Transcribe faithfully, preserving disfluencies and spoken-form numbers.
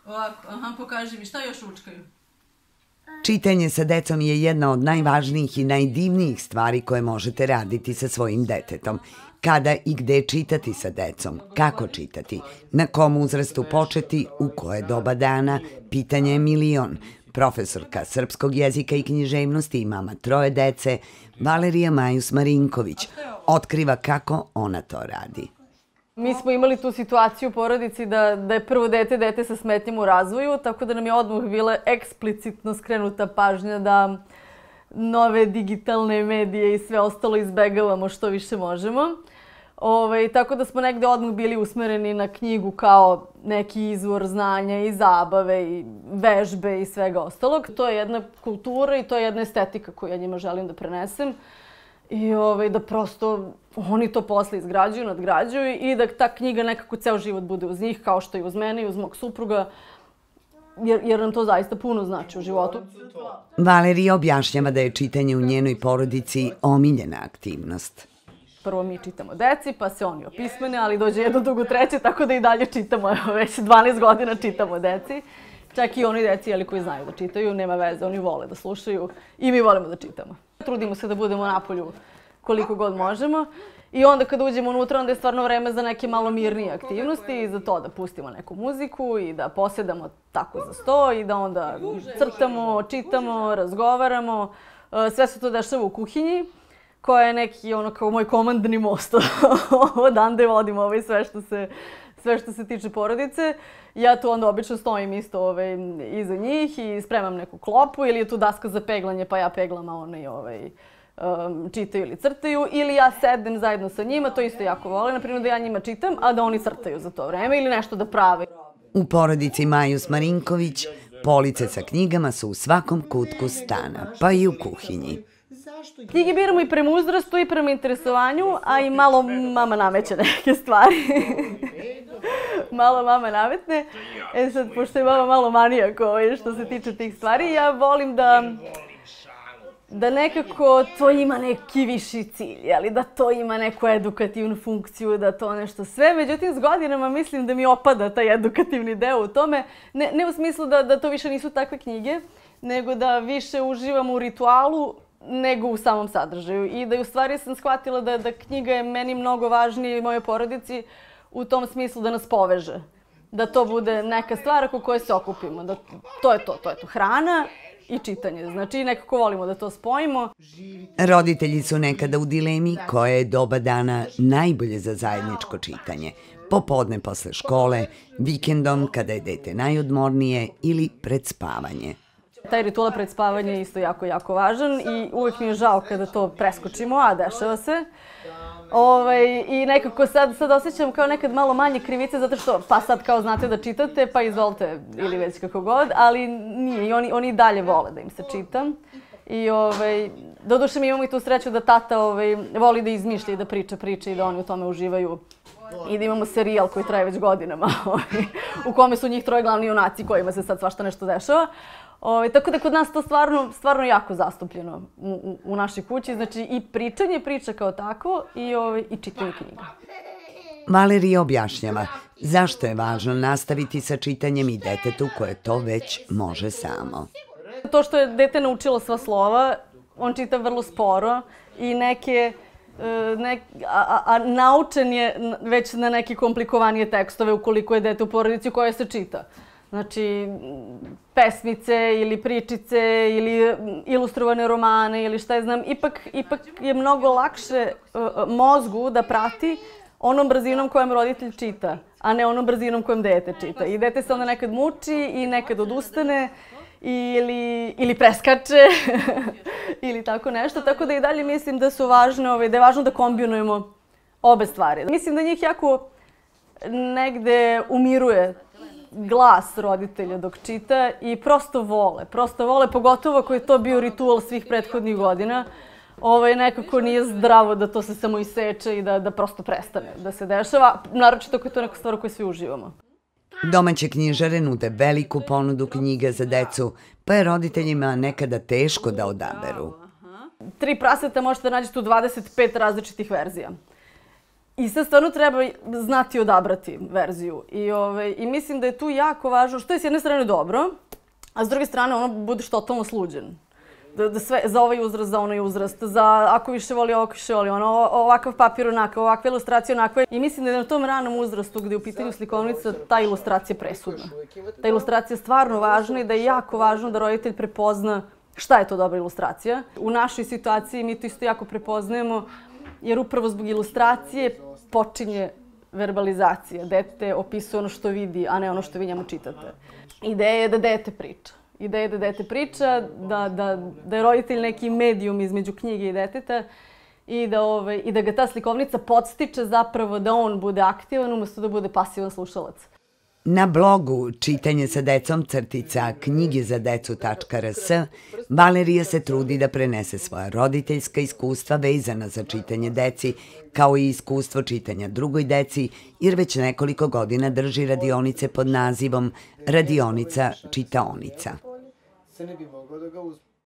Ovako, aha, pokaži mi, šta još učkaju? Čitanje sa decom je jedna od najvažnijih i najdivnijih stvari koje možete raditi sa svojim detetom. Kada i gde čitati sa decom, kako čitati, na kom uzrastu početi, u koje doba dana, pitanje je milion. Profesorka srpskog jezika i književnosti i mama troje dece, Valerija Majus Marinković, otkriva kako ona to radi. Mi smo imali tu situaciju u porodici da, da je prvo dete dete sa smetnjama u razvoju, tako da nam je odmah bila eksplicitno skrenuta pažnja da nove digitalne medije i sve ostalo izbegavamo što više možemo. Ove, tako da smo negde odmah bili usmereni na knjigu kao neki izvor znanja i zabave i vežbe i svega ostalog. To je jedna kultura i to je jedna estetika koju ja njima želim da prenesem. I ove, da prosto oni to posle izgrađuju, nadgrađuju i da ta knjiga nekako ceo život bude uz njih, kao što i uz mene i uz mog supruga, jer, jer nam to zaista puno znači u životu. Valerija objašnjava da je čitanje u njenoj porodici omiljena aktivnost. Prvo mi čitamo deci, pa se oni opismene, ali dođe jedno, drugo, treće, tako da i dalje čitamo, evo već dvanaest godina čitamo deci. Čak i oni deci jeli, koji znaju da čitaju, nema veze, oni vole da slušaju i mi volimo da čitamo. Trudimo se da budemo napolju koliko god možemo i onda kad uđemo unutra onda je stvarno vreme za neke malo mirnije aktivnosti i za to da pustimo neku muziku i da posedamo tako za sto i da onda crtamo, čitamo, razgovaramo. Sve se to dešava u kuhinji koja je neki ono kao moj komandni most. Odande vodim ovaj sve što se sve što se tiče porodice. Ja tu onda obično stojim isto ove, iza njih i spremam neku klopu ili je tu daska za peglanje pa ja peglam, a oni ovaj, um, čitaju ili crtaju. Ili ja sedem zajedno sa njima, to isto jako volim, naprimjer da ja njima čitam, a da oni crtaju za to vreme ili nešto da prave. U porodici Majus Marinković police sa knjigama su u svakom kutku stana, pa i u kuhinji. Knjige biramo i prema uzrastu i prema interesovanju, a i malo mama nameće neke stvari. Malo mama nametne. E sad, pošto je mama malo manijak što se tiče tih stvari, ja volim da da nekako to ima neki viši cilj, ali da to ima neku edukativnu funkciju, da to nešto sve. Međutim, s godinama mislim da mi opada taj edukativni deo u tome. Ne, ne u smislu da, da to više nisu takve knjige, nego da više uživamo u ritualu nego u samom sadržaju. I da u stvari sam shvatila da, da knjiga je meni mnogo važnija i mojoj porodici u tom smislu da nas poveže. Da to bude neka stvar oko koje se okupimo. Da to je to, to je to. Hrana i čitanje. Znači nekako volimo da to spojimo. Roditelji su nekada u dilemi koje je doba dana najbolje za zajedničko čitanje. Popodne posle škole, vikendom kada je dete najodmornije ili pred spavanje. Taj ritual pred spavanje je isto jako, jako važan i uvijek mi je žao kada to preskočimo, a dešava se. Ovaj, I nekako sad, sad osjećam kao nekad malo manje krivice zato što pa sad kao znate da čitate pa izvolite ili već kako god, ali nije i oni, oni dalje vole da im se čita. I ovaj, doduše mi imamo i tu sreću da tata ovaj, voli da izmišlja i da priča priče i da oni u tome uživaju. I da imamo serijal koji traje već godinama u kome su njih troje glavni junaci kojima se sad svašta nešto dešava. Ove, tako da kod nas to stvarno, stvarno jako zastupljeno u, u, u našoj kući. Znači i pričanje priča kao tako i, ove, i čitanje knjiga. Valerija objašnjava zašto je važno nastaviti sa čitanjem i detetu koje to već može samo. To što je dete naučilo sva slova, on čita vrlo sporo i neke... Ne, a, a naučen je već na neke komplikovanije tekstove ukoliko je dete u porodici koje se čita. Znači, pesmice ili pričice ili ilustrovane romane ili šta je znam. Ipak, ipak je mnogo lakše uh, mozgu da prati onom brzinom kojom roditelj čita, a ne onom brzinom kojom dete čita. I dete se onda nekad muči i nekad odustane. Ili, ili preskače ili tako nešto. Tako da i dalje mislim da su važne, ovaj, da je važno da kombinujemo obe stvari. Mislim da njih jako negde umiruje glas roditelja dok čita i prosto vole. Prosto vole, pogotovo ako je to bio ritual svih prethodnih godina. Ovaj, nekako nije zdravo da to se samo iseče i da, da prosto prestane da se dešava. Naročito ako je to neka stvar u kojoj svi uživamo. Domaće knjižare nude veliku ponudu knjiga za decu, pa je roditeljima nekada teško da odaberu. Tri praseta možete nađete u dvadeset pet različitih verzija. I sad stvarno treba znati odabrati verziju. I, ove, I mislim da je tu jako važno, što je s jedne strane dobro, a s druge strane ono budeš totalno sluđen. Da, da sve, za ovaj uzrast, za onaj uzrast, za ako više voli, ovako više voli, ono, ovakav papir onako, ovakva ilustracija onako. I mislim da je na tom ranom uzrastu gdje je u pitanju slikovnica ta ilustracija presudna. Ta ilustracija je stvarno važna i da je jako važno da roditelj prepozna šta je to dobra ilustracija. U našoj situaciji mi to isto jako prepoznajemo, jer upravo zbog ilustracije počinje verbalizacija. Dete opisuje ono što vidi, a ne ono što vi njemu čitate. Ideja je da dete priča. Ideja je da dete priča, da, da, da je roditelj neki medijum između knjige i deteta i da, ove, i da ga ta slikovnica podstiče zapravo da on bude aktivan umjesto da bude pasivan slušalac. Na blogu Čitanje sa decom crtica knjige za decu tačka rs Valerija se trudi da prenese svoja roditeljska iskustva vezana za čitanje deci, kao i iskustvo čitanja drugoj deci, jer već nekoliko godina drži radionice pod nazivom Radionica čitaonica. Se ne bi moglo da ga